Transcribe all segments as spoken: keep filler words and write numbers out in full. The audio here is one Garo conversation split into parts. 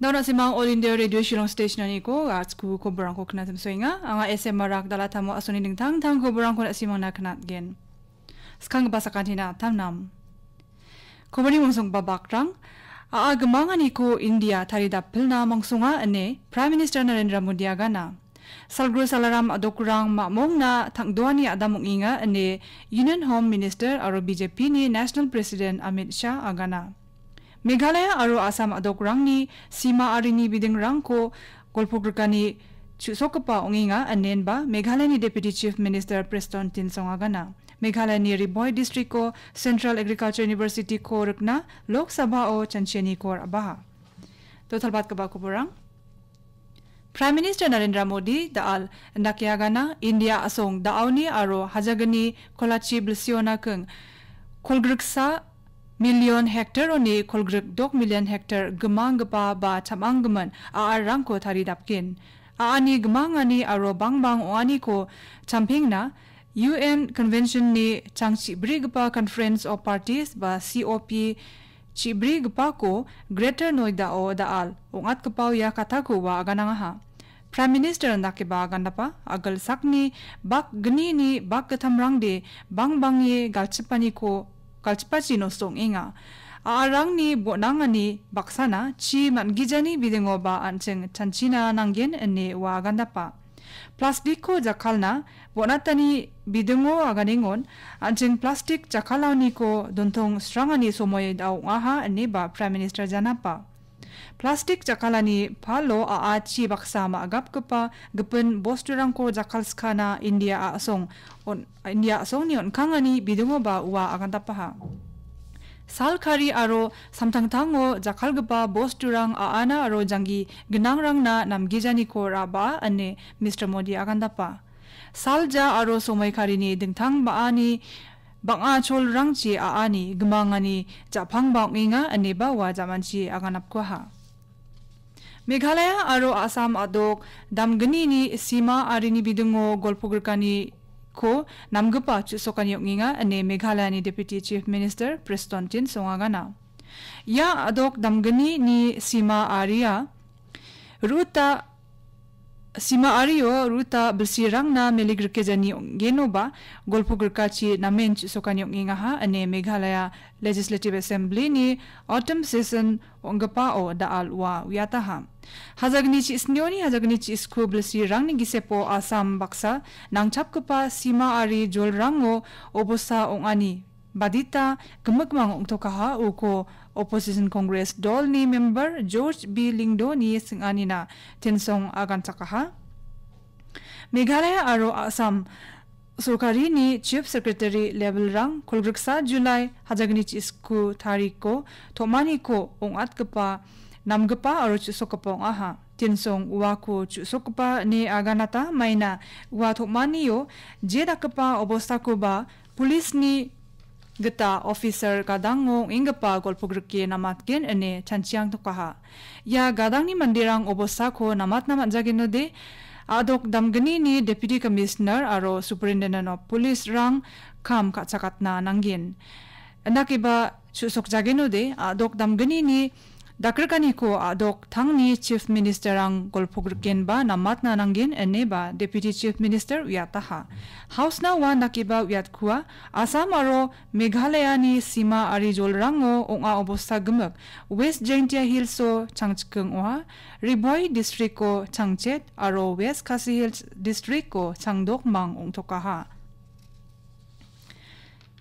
Daun asimang All India Radio Shillong Station-oniko a·chku koborangko knatimsoenga. Anga S M Marak Dalatamo asoni dingtang tang koborangko asimangna knatgen. Skanggipa sakantina tamnam. Koborni mongsonggipa bakrang, a·a gimanganiko India taridapilna mongsonga ine Prime Minister Narendra Modi agana. Salgro salaram a·dokrang mamongna tangdoani adam ong·enga ine Union Home Minister aro B J P-ni National President Amit Shah agana. Meghalaya aro Assam a·dokrangni sima arini bidingrangko golpogrikani chu·sokgipa ong·enga inenba Meghalayani Deputy Chief Minister Prestone Tynsong agana. Meghalayani Ri Bhoi District-o Central Agriculture University-ko rikna Lok Sabha-o chanchianiko ra·baha. Dotalbatgipa koborang. Prime Minister Narendra Modi da·al indake agana India a·song da·aoni aro hajagni kolachi bilsiona king kolgriksa million hektaroni kolgrik dok million hektar gimanggipa ba chamanggimin a·arrangko taridapgen. A·ani gimangani aro bangbang ong·aniko champengna U N Convention-ni changchibrigipa Conference of Parties ba C O P chibrigipako Greater Noida-o da·al ong·atgipao ia katako ua aganangaha. Prime Minister indakeba agandapa, agilsakni bak gnini bak gittamrangde bangbangni galchipaniko, galchipachi nosto ong·enga. A·arangni bonangani baksana chi man·gijani bidingoba an·ching chanchina nanggen ine ua agandapa. Plastikko jakkalna bon·atani bidingo aganengon an·ching plastik jakkalaniko dontong srangani somoi da ong·aha ineba Prime Minister janapa. Plastik jakkalani palo a·achi baksa ma·gapgipa gipin bosturangko jakkalskana India a·song on-, India a·songni on·kangani bidingoba ua agandapaha. Salkari aro samtangtango jakkalgipa bosturang a·ana aro janggi gnangrangna namgijaniko ra·baa ine Mister Modi agandapa. Salja aro somoikarini dingtang ba·ani bang·a cholrangchi a·ani gimangani ja·pangba ong·enga ineba ua jamanchi aganapkuaha. Meghalaya aro Assam a·dok damgnini sima arini bidingo golpogrikaniko namgipa chu·sokani ong·enga ine Meghalayani Deputy Chief Minister Prestone Tynsong agana. Ia a·dok damgnini sima aria ruta, sima ario ruta bilsirangna meligrikejani ong·genoba golpogrikachi namen chu·sokani ong·engaha ine Meghalaya Legislative Assembly-ni autumn session ong·gipao da·al ua uiataha. Hajagni chi·snioni hajagni chi·sku bilsirangni gisepo Assam baksa nangchapgipa sima ari jolrango obosta ong·ani badita gimikmang ong·tokaha uko Opposition Congress dolni member George B Lyngdoh-ni sing·anina Tynsong aganchakaha. Meghalaya aro Assam sorkarini Chief Secretary level-rang kolgriksa July hajagni chi·sku tariko tom·aniko ong·atgipa, namgipa aro chu·sokgipa ong·aha. Tynsong uako chu·sokgipa ine aganata maina ua tom·anio je dakgipa obostakoba Police-ni gita officer gadango ong·enggipa golpogrike namatgen ine chanchiangtokaha. Ia gadangni manderang obostako namatna man·jagenode, a·dok damgnini Deputy Commissioner aro Superintendent of Police-rang kam ka·chakatna nanggen. Indakeba chu·sokjagenode, a·dok damgnini dakrikaniko a·dok tangni Chief Minister-rang golpogrikenba namatna nanggen ineba Deputy Chief Minister uiataha. House-na ua nakiba uiatkua, Assam aro Meghalayani sima ari jolrango ong·a obosta gimik, West Jaintia Hills-o changchiking ong·a, Ri Bhoi District-o changchet aro West Khasi Hills District-o changdokmang ong·tokaha.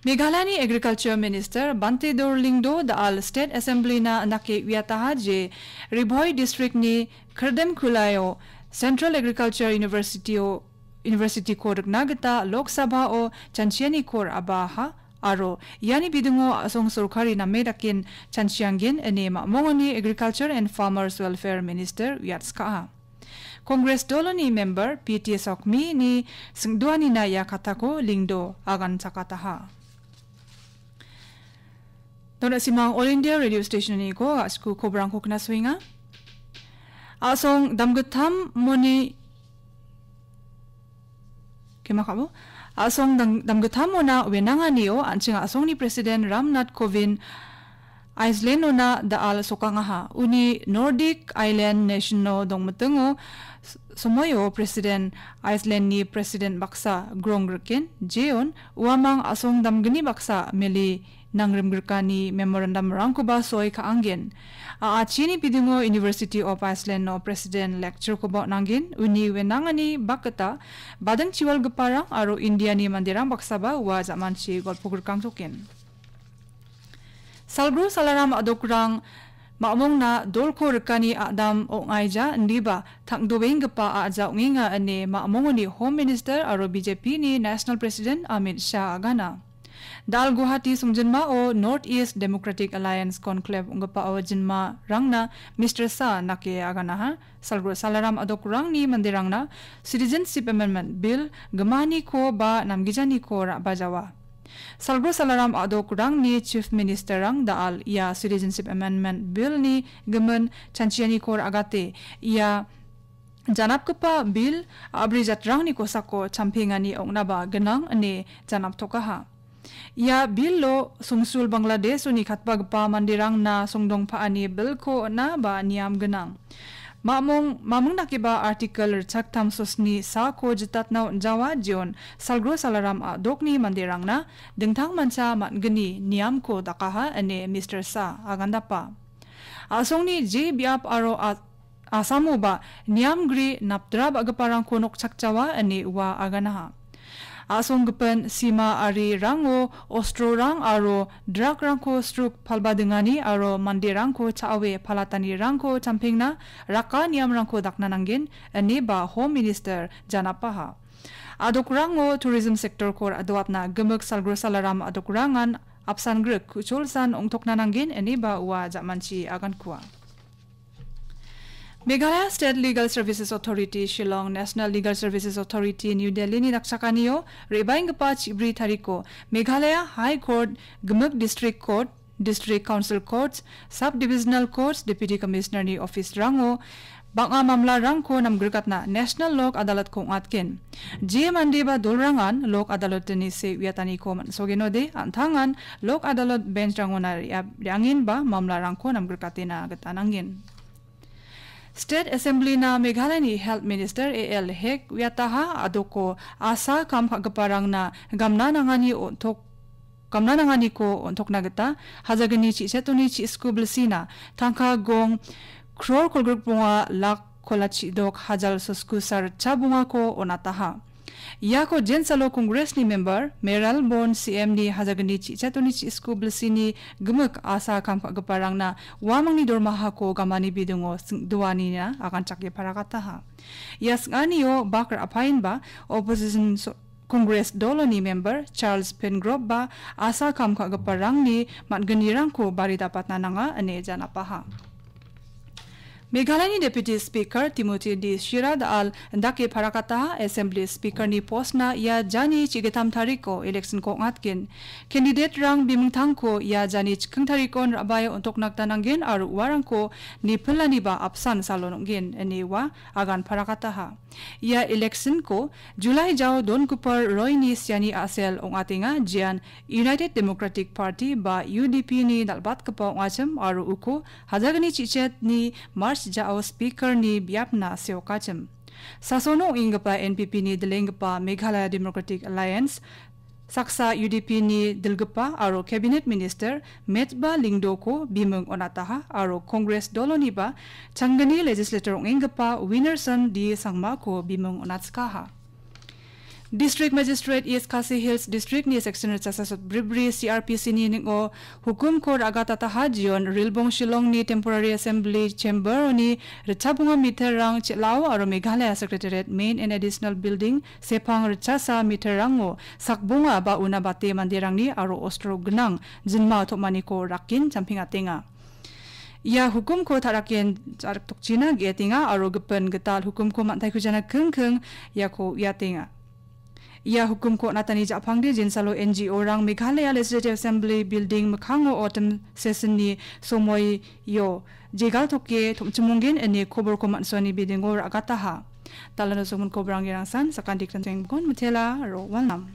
Meghalayani Agriculture Minister Bhante Dor Lyngdoh da·al State Assembly-na indake uiataha je Ri Bhoi District-ni Khirdim Khulaio Central Agriculture University-o, University-ko rikna gita Lok Sabha-o chanchianiko ra·baha aro iani bidingo a·song sorkari name daken chanchianggen ine mamongoni Agriculture and Farmers Welfare Minister uiatskaha. Congress doloni member P T Sokmi-ni singdoanina ia katako Lyngdoh aganchakataha. Dona simang All India Radio Station-oniko a·sku kobrangko knasoenga. A·song damgittam moni Kemakabo. A·song dang-, damgittamona wenanganio an·ching a·songni President Ramnath Kovind Iceland-ona da·al sokangaha. Uni Nordic Island Nation-o dongmitingo s-, somoio President, Iceland-ni President baksa Grongriken Jeon uamang a·song damgni baksa meli nangrimgrikani memorandum-rangkoba soi ka·angen. A·achini bidingo University of Iceland-o President lecture-koba on·angen. Uni wenangani bakgita bading chiwalgiparang aro India-ni manderang baksaba ua jamanchi golpogrikangtoken. Salgro Salaram a·dokrang ma·mongna dolko rikani a·dam ong·aija indiba tangdoenggipa a·ja ong·enga ine ma·mongoni Home Minister aro B J P-ni National President Amit Shah agana. Da·al Guwahati songjinmao North East Democratic Alliance Conclave ong·gipao jinmarangna Mister Shah nake aganaha. Salgro Salaram a·dokrangni manderangna Citizenship Amendment Bill gimaniko ba namgijaniko ra·bajawa. Salgro Salaram a·dokrangni Chief Minister-rang da·al ia Citizenship Amendment Bill-ni gimin chanchianiko ra·agate ia janapgipa Bill a·bri jatrangni kosako champengani ong·naba gnang ine janaptokaha. Ia Bill-o songsul Bangladesh-oni katbagipa manderangna songdong pa·ani Bill-ko on·a ba niam gnang. Mamung, mamung dakeba Article ritchaktam sosni sako jitatna on·jawa jeon Salgro Salaram a·dokni manderangna dingtangmancha man·gni niamko dakaha ine Mister Shah agandapa. A·songni je biap aro a-, Assamoba niamgri napdra ba·giparangko nokchakjawa ine ua aganaha. A·song gipin sima arirango ostrorang aro drug-rangko struk palbadingani aro manderangko cha·awe palatanirangko champengna raka niamrangko dakna nanggen, ineba Home Minister janapaha. A·dokrango tourism sector-ko ra·doatna gimik Salgro Salaram a·dokrangan apsan grik ku·cholsan ong·tokna nanggen, ineba ua jamanchi agankua. Meghalaya State Legal Services Authority, Shillong, National Legal Services Authority, New Delhi-ni dakchakanio re·baenggipa chibri tariko Meghalaya High Court, gimik District Court, District Council Courts, Sub-Divisional Courts, Deputy Commissioner-ni office-rango bang·a mamlarangko namgrikatna National Lok Adalat-ko ong·atgen. Je mande ba dolrangan Lok Adalat-ni se uiataniko man·sogenode, an·tangan Lok Adalat bench-rangona re·a-, re·angenba mamlarangko namgrikatena gita nanggen. State Assembly-na Meghalaya-ni Health Minister A L Hek uiataha a·doko asa kam ka·giparangna gamna nangani on·tok-, gamna nanganiko on·tokna gita hajagni chi·chetoni chi·sku bilsina tangka gong kror kolgrikbonga lak kolachidok hajal sosku sa ritcha bongako on·ataha. Iako jensalo Congress-ni member Mayralborn C M-ni hajagni chi·chetoni chi·sku bilsini gimik asa kam ka·giparangna uamangni dormahako gamani bidingo sing·doanina aganchake paragataha. Ia sing·anio bak ra·paenba opposition so-, Congress doloni member Charles Pengrove-ba asa kam ka·giparangni man·gnirangko bari dapatna nanga ine janapaha. Meghalayani Deputy Speaker Timothy D Shira da·al dake parakataha Assembly Speaker-ni post-na ia jani chi·gitam tariko election-ko ong·atgen. Candidate-rang bimingtangko ia jani chikking tarikon ra·bae on·tokna gita nanggen aro uarangko nipilaniba apsan salon ong·gen ine ua agan parakataha. Ia election-ko July jao Don Cooper Roy-ni siani a·sel ong·atenga, jean United Democratic Party ba U D P-ni dal·batgipa ong·achim aro uko hajagni chi·chetni March jao Speaker-ni biapna seokachim. Sasono ong·enggipa N P P-ni dilenggipa Meghalaya Democratic Alliance, saksa U D P-ni dilgipa aro Cabinet Minister Metba Lyngdoh-ko bimung on·ataha aro Congress doloniba changgni legislator ong·enggipa Winnerson D Sangma-ko bimung on·atskaha. District Magistrate East Khasi Hills District-ni Section ritchasa sotbribri C R P C-ni ning·o hukumko ra·gatataha jeon Rilbong Shillong-ni Temporary Assembly Chamber-oni ritchabonga meter-rang chel·ao aro Meghalaya Secretariat Main and Additional Building sepang ritchasa meter-rango sakbonga ba una bate manderangni aro ostro gnang jinma tom·aniko rakin champengatenga. Ia hukumko ta·raken ja·riktokchina ge·etenga aro gipin gital hukumko man·taikujana kingking iako uiatenga. Ia hukumko on·atani ja·pangde jinsalo N G O-rang Meghalaya Legislative Assembly Building mikkango autumn session-ni somoio jegal toke tom·chimonggen ine koborko man·suani bidingo ra·gataha. Dalano somonko borang gerangsan, sakantikon mitela aro walnam.